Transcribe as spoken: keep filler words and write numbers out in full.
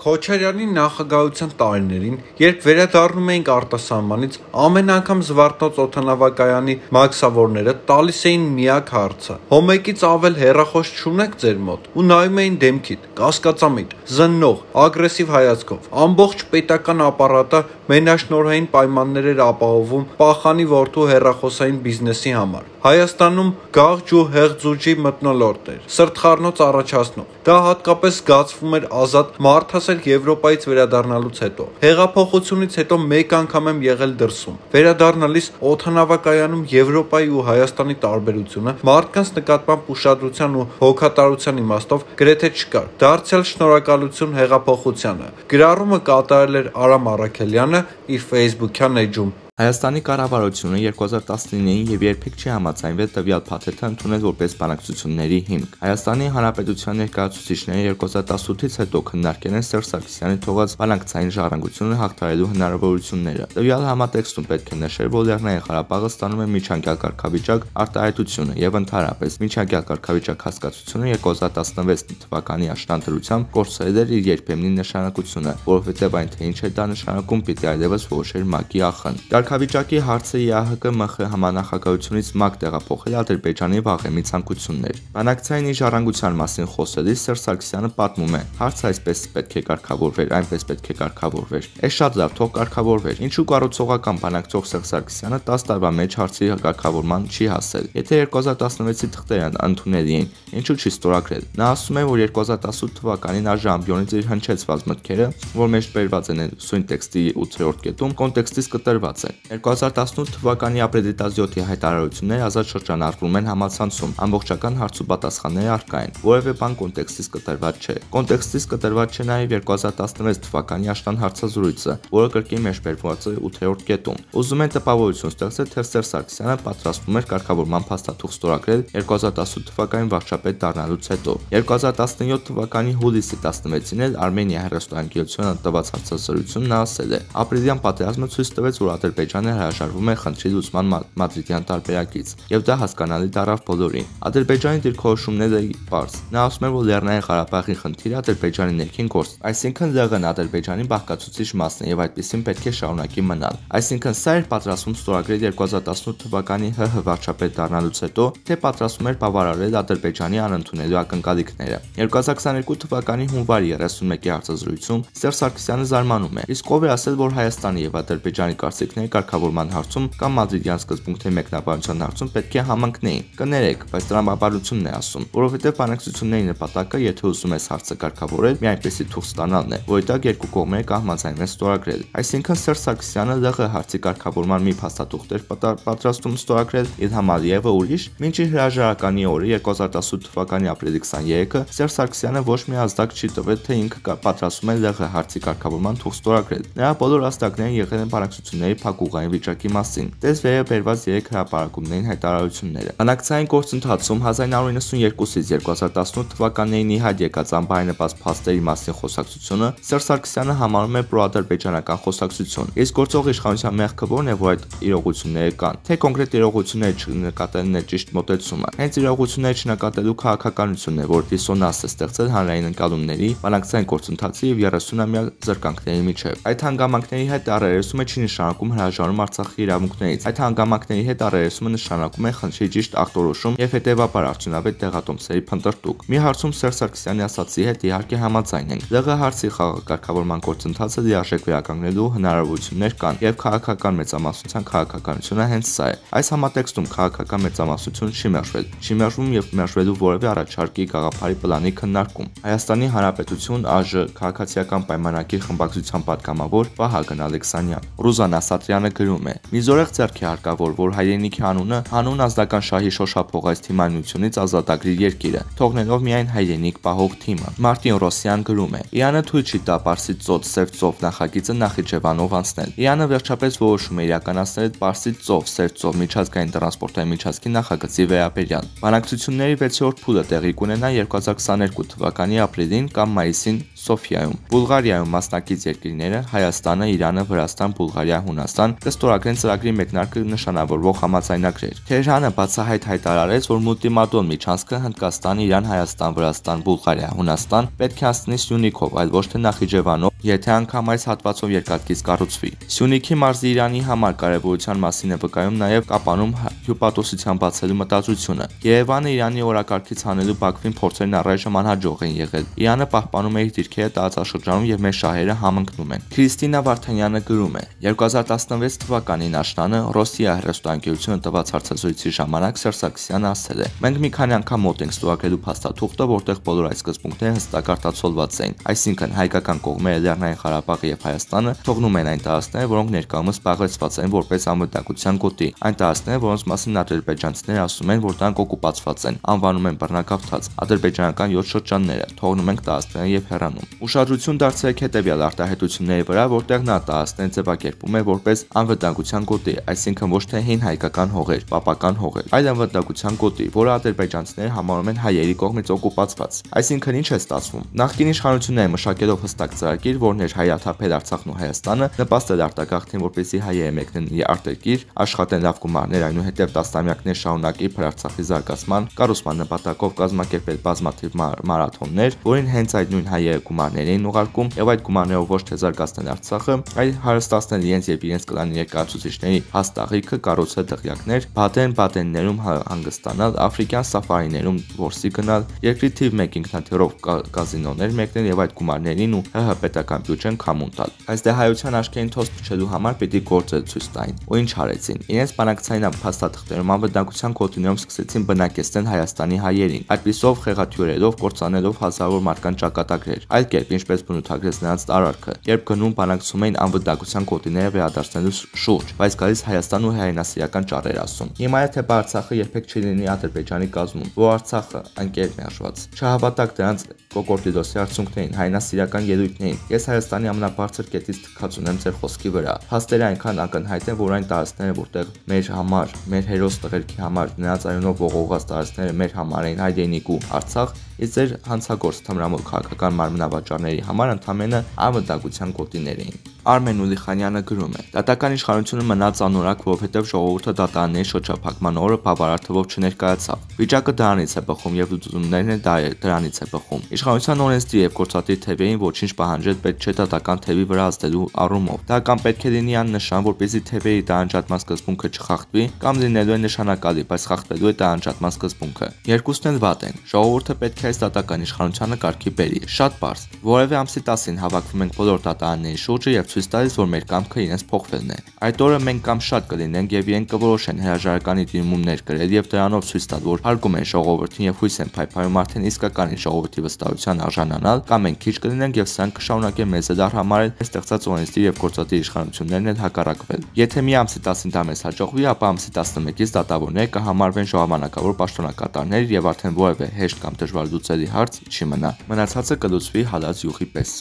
Քոչարյանի նախագահության տարիներին, երբ վերադառնում էինք արտասահմանից, ամեն անգամ Զվարթնոց օդանավակայանի մաքսավորները տալիս էին միակ հարցը. «Հոմեկից ավել հեռախոս չունեք ձեր մոտ»։ Ու նայում էին դեմքիդ, կասկածամիտ, զննող, ագրեսիվ հայացքով։ Ամբողջ պետական ապարատը մենաշնորհային պայմաններ էր ապահովում Պախանի որդու հեռախոսային բիզնեսի համար։ Հայաստանում գաղջ ու հեղձուժի մթնոլորտ էր, սրտխառնոց առաջացնող։ Դա հատկապես զգացվում էր ազատ մարդասեր Եվրոպայից վերադառնալուց հետո։ Հեղափոխությունից հետո մեկ անգամ եմ եղել դրսում։ Վերադառնալիս օդանավակայանում Եվրոպայի ու Հայաստանի տարբերությունը մարդկանց նկատմամբ ուշադրության ու հոգատարության իմաստով գրեթե չկար։ Դարձյալ շնորհակալություն հեղափոխությանը։ Գրառումը կատարել էր Արամ Առաքելյանը իր Facebook-յան էջում։ Հայաստանի կառավարությունը երկու հազար տասնինին եւ երբեք չի համաձայնվել տվյալ փաթեթը ընդունել որպես բանակցությունների հիմք։ Հայաստանի Հանրապետության ներկայացուցիչները երկու հազար տասնութից հետո քննարկել են Սերժ Սարգսյանի թողած բանակցային ժառանգությունը հաղթահարելու հնարավորությունները։ Տվյալ համատեքստում պետք է նշել, որ Լեռնային Ղարաբաղը ստանում է միջանկյալ կարգավիճակ արտահայտությունը եւ ընդհանրապես միջանկյալ կարգավիճակ հասկացությունը երկու հազար տասնվեց թվականի աշնանտրությամբ կորցրել էր իր երբեմնի նշանակությունը, որովհետեւ այն թե ինչ է դա նշանակում պիտի այլևս որոշեր ՄԱԿ-ի ախն։ Կարգավիճակի հարցը ԵԱՀԿ ՄԽ համանախագահությունից ՄԱԿ տեղափոխել Ադրբեջանի վաղեմի ցանկություններ։ Բանակցային ժառանգության մասին խոսելիս Սերժ Սարգսյանը պատմում է. «Հարցը այսպես պետք է կարգավորվեր, այնպես պետք է կարգավորվեր։ Էս շատ լավ, թող կարգավորվեր»։ Ինչու կառուցողական բանակցող Սերժ Սարգսյանը տասը տարվա մեջ հարցի կարգավորման չի հասել։ Եթե երկու հազար տասնվեցի թղթերը ընդունելի էին, ինչու չի ստորագրել։ Նա ասում է, որ երկու հազար տասնութ թվականին Աժ ամբիոնից իր հնչեցված մտքերը, որ մեջ բերված են սույն տեքստի ութերորդ կետում, կոնտեքստից կտրված են։ երկու հազար տասնութ թվականի ապրիլի տասնյոթի հայտարարությունները ազատ շրջանառվում են համացանցում, ամբողջական հարց ու պատասխանները առկա են, որևէ բան կոնտեքստից կտրված չէ։ Կոնտեքստից կտրված չէ նաև երկու հազար տասնվեց թվականի աշնան հարցազրույցը, որը կրկին մեջբերված է ութերորդ կետում։ Ուզում են տպավորություն ստեղծել, թե Սերժ Սարգսյանը պատրաստվում էր կարգավորման փաստաթուղթ ստորագրել երկու հազար տասնութ թվականին վարչապետ դառնալուց հետո։ երկու հազար տասնյոթ թվականի հուլիսի տասնվեցին էլ Արմենիա հեռուստաընկերությանը տված հարցազրույցում նա ասել է. «Ապրիլյան պատերազմը ցույց տվեց, որ Ադրբեջանը հրաժարվում է խնդրի լուծման մադրիդյան տարբերակից, եւ դա հասկանալի դառավ բոլորին։ Ադրբեջանի դիրքորոշումները պարզ։ Նա ասում է, որ Լեռնային Ղարաբաղի խնդիրը Ադրբեջանի ներքին գործ, այսինքն ԼՂ-ն Ադրբեջանի բաղկացուցիչ մասն է եւ այդպեսին պետք է շարունակի մնալ։ Այսինքն սա էր պատրաստվում ստորագրել երկու հազար տասնութ թվականի ՀՀ վարչապետ դառնալուց հետո, թե պատրաստվում էր բավարարել Ադրբեջանի անընդունելի ակնկալիքները»։ երկու հազար քսաներկու թվականի հունվարի երեսունմեկի հարցազրույցում Սերժ Սարգսյանը զարմանում է. «Իսկ ով է ասել, որ Հայաստանի եւ Ադրբեջանի կարծիքները կարգավորման հարցում կամ մադրիդյան սկզբունքների մեկնաբանության հարցում պետք է համընկնեին։ Կներեք, բայց տրամաբանությունն է ասում, որովհետև բանակցությունների նպատակը, եթե ուզում ես հարցը կարգավորել, մի այնպեսի թուղթ ստանալն է, որի տակ երկու կողմերը կհամաձայնվեն ստորագրել։ Այսինքն Սերժ Սարգսյանը ԼՂ հարցի կարգավորման մի փաստաթուղթ էր պատրաստում ստորագրել, Իլհամ Ալիևը ուրիշ։ Մինչ իր հրաժարականի օրը երկու հազար տասնութ թվականի ապրիլի քսաներեքը Սերժ Սարգսյանը ոչ մի ազդակ չի տվել, թե ինքը պատրաստում է ԼՂ հարցի կարգավորման թուղթ ստորագրել։ Նրա բոլոր ազդակները եղել են բանակցությունների փակուղային վիճակի մասին։ Տես վերը բերված երեք հրապարակումներին հայտարարությունները։ Բանակցային գործընթացում հազար իննսուն երկուսից երկու հազար տասնութ թվականներին ի հայտ եկած անբարենպաստ փաստերի մասին խոսակցությունը Սերժ Սարգսյանը համարում է պրոադրբեջանական խոսակցություն։ Իսկ գործող իշխանության մեղքը որն է, որ այդ իրողությունները կան, թե կոնկրետ իրողությունները չնկատելն է ճիշտ մոտեցումը։ Հենց իրողությունները չնկատելու քաղաքականությունն է, որ դիսոնանս է ստեղծել հանրային ընկալումների, բանակցային գործընթացի եւ երեսունամյա զրկանքների միջեւ։ Այդ հանգամանքների հետ առերեսումը չի նշանակում հրաժարում Արցախի իրավունքներից։ Այդ հանգամանքների հետ առերեսումը նշանակում է խնդրի ճիշտ ախտորոշում եւ հետեւաբար արդյունավետ տեղատոմսերի փնտրտուք։ Մի հարցում Սերժ Սարգսյանի ասացի հետ իհարկե համաձայն ենք։ ԼՂ հարցի խաղակարգավորման գործընթացը լիարժեք վերականգնելու հնարավորություններ կան եւ քաղաքական մեծամասնության քաղաքականությունը հենց սա է։ Այս համատեքստում քաղաքական մեծամասնություն չի մերժվել, չի մերժվում եւ մերժվելու որևէ առաջարկի գաղափարի պլանի քննարկում։ Հայաստանի Հանրապետություն ԱԺ քաղաքացիական պայմանագիր խմբակցության պատգամավոր Վահագն Ալեքսանյան։ Ռուզան Ասատրյանը գրում է. «Մի զորեղ ձեռք է հարկավոր, որ հայրենիքի անունը հանուն ազդական շահի շոշափող այս թիմանությունից ազատագրի երկիրը, թողնելով միայն հայրենիք պահող թիմը»։ Մարտին Ռոսյան գրում է. «Իրանը թույլ չի տա Պարսից ծոց Սև ծով նախագիծը Նախիջևանով անցնել։ Իրանը վերջապես որոշում է իրականացնել Պարսից ծով Սև ծով միջազգային տրանսպորտային միջազգի նախագծի վերաբերյալ։ Բանակցությունների վեցերորդ փուլը տեղի կունենա երկու հազար քսաներկու թվականի ապրիլին կամ մայիսին Սոֆիայում։ Բուլղարիայում մասնակից երկրները Հայաստանը, Իրանը, Վրաստան, Բուլղարիա, Հունաստան Հայաստան կստորագրեն ծրագրի մեկնարկը նշանավորող համաձայնագրեր։ Թեհրանը բացահայտ հայտարարեց, որ մուլտիմադոն միջանցքը Հնդկաստան, Իրան, Հայաստան, Վրաստան, Բուլղարիա, Հունաստան պետք է անցնի Սյունիքով, այլ ոչ թե Նախիջևանով, եթե անգամ այս հատվածով երկաթգիծ կառուցվի։ Սյունիքի մարզի Իրանի համար կարևորության մասին է վկայում նաև Կապանում հյուպատոսության բացելու մտածությունը։ Երևանը Իրանի օրակարգից հանելու Բաքվին փորձերն առայժմ անհաջող են եղել։ Իրանը պահպանում է իր դիրքերը տարածաշրջանում եւ մեր շահերը համընկնում են։ Քրիստինա Վարդանյանը գրում է. երկու հազար տասնվեց թվականին աշնանը Ռոսիա հեռուստաընկերությունը տված հարցազրույցի ժամանակ Սերժ Սարգսյանը ասել է. «Մենք մի քանի անգամ մոտ ենք ստորագրելու փաստաթուղթը, որտեղ բոլոր այս սկզբունքները հստակ արտացոլված են, այսինքն հայկական կողմերը Լեռնային Ղարաբաղը եւ Հայաստանը թողնում են այն տարածքները, որոնք ներկայումս զբաղեցված են որպես անվտանգության գոտի, այն տարածքները, որոնց մասին ադրբեջանցիները ասում են, որ դրանք օկուպացված են, անվանում են բռնագաղթած, ադրբեջանական յոթ շրջանները, թողնում ենք տարածքները եւ հեռանում»։ Ուշադրություն դարձրեք հետեւյալ արտահայտությունների վրա, որտեղ նա տարածքները ձևակերպում է որպես անվտանգության գոտի, այսինքն ոչ թե հին հայկական հողեր, պապական հողեր, այլ անվտանգության գոտի, որը ադրբեջանցիները համարում են հայերի կողմից օկուպացված։ Այսինքն ինչ է ստացվում։ Նախկին իշխանությունները մշակելով հստակ ծրագիր, որն էր հայաթափել Արցախն ու Հայաստանը, նպաստել արտագաղթին, որպեսզի հայերը մեկնեն արտերկիր, աշխատեն լավ գումարներ, այնուհետև տասնամյակներ շարունակ իբր Արցախի զարգացման, կառուցման նպատակով կազմակերպել բազմաթիվ մարաթոններ, որին հենց այդ նույն հայերը գումարներ էին ուղարկում, եւ այդ գումարներով ոչ թե զարգացնել Արցախը, այլ հարստացնել իրենց եւ իրենց կլանի ներկայացուցիչների հաստաղիքը, կառուցել դղյակներ, բադեն բադեններում հանգստանալ, աֆրիկյան սաֆարիներում որսի գնալ, երկրի թիվ մեկ ինքնաթիռով կազինոներ մեկնել եւ այդ գումարներին ու ՀՀ պետական բյուջեն քամուն տալ։ Այս դե հայության աչքերին թոս փչելու համար պիտի գործել ցույց տային։ Ու ինչ արեցին։ Իրենց բանակցային փաստաթղթերում անվտանգության կոդիներում սկսեցին բնակեցնել Հայաստանի հայերին, այդպիսով խեղաթյուրելով, կործանելով հազարավոր մարդկանց ճակատագրեր։ Այլ կերպ, ինչպես բնութագրեց նրանց տարարքը, երբ գնում բանակցում էին անվտանգության կոդիները վերադարձնելու շուրջ, բայց գալիս Հայաստան ու հայրենասիրական ճառեր ասում։ Հիմա եթե Արցախը երբեք չի լինի Ադրբեջանի կազմում, որ Արցախը անկեր մերժված։ Չհավատակ դրանց կոկորդիդոսի արդյունքներին, հայրենասիրական ելույթներին։ Ես Հայաստանի ամենաբարձր կետից թքած ունեմ ձեր խոսքի վրա։ Փաստերը այնքան ակնհայտ են, որ այն տարածքները, որտեղ մեր համար, մեր հերոս տղերքի համար նրանց արյունով ողողված տարածքները մեր համար էին հայրենիք ու Արցախ, իսկ ձեր հանցագործ թմրամոլ քաղաքական մարմնավաճառների համար ընդամենը անվտանգության գոտիներ էին։ Արմեն Ուլիխանյանը գրում է. «Դատական իշխանությունը մնաց անորակ, որովհետև ժողովուրդը դատարանների շրջափակման օրը բավարար թվով չներկայացավ։ Վիճակը դրանից է բխում եւ լուծումներն էլ դրանից է բխում։ Իշխանության օրենսդիր եւ գործադիր թևերին ոչինչ պահանջել պետք չէ դատական թևի վրա ազդելու առումով։ Դա կամ պետք է լինի աննշան, որպեսզի թևերի տարանջատման սկզբունքը չխախտվի, կամ լինելու է նշանակալի, բայց խախտվելու է տարանջատման սկզբունքը։ Երկուսն էլ վատ են։ Ժողովուրդը պետք է այս դատական իշխանությանը կարգի բերի։ Շատ պարզ։ Որևէ ամսի տասին հավաքվում ենք բոլոր դատարանների շուրջը եւ ցույց տալիս, որ մեր կամքը իրենց փոխվելն է։ Այդ օրը մենք կամ շատ կլինենք եւ իրենք կորոշեն հրաժարականի դիմումներ գրել եւ դրանով ցույց տալ, որ հարգում են ժողովրդին եւ հույս են փայփայում արդեն իսկական ժողովրդի վստահության արժանանալ, կամ մենք քիչ կլինենք եւ սրանք կշարունակեն մեզ դար համարել ստեղծած օրենսդիր եւ գործադիր իշխանություններն էլ հակառակվել։ Եթե մի ամսի տասին դա մեզ հաջողվի, ապա ամսի տասնմեկից դատավորները կհամարվեն ժամանակավոր պաշտոնակատարներ եւ արդեն որևէ հեշտ կամ դժվար լուծելի հարց չի մնա։ Մնացածը կլուծվի հալած յուղի պես։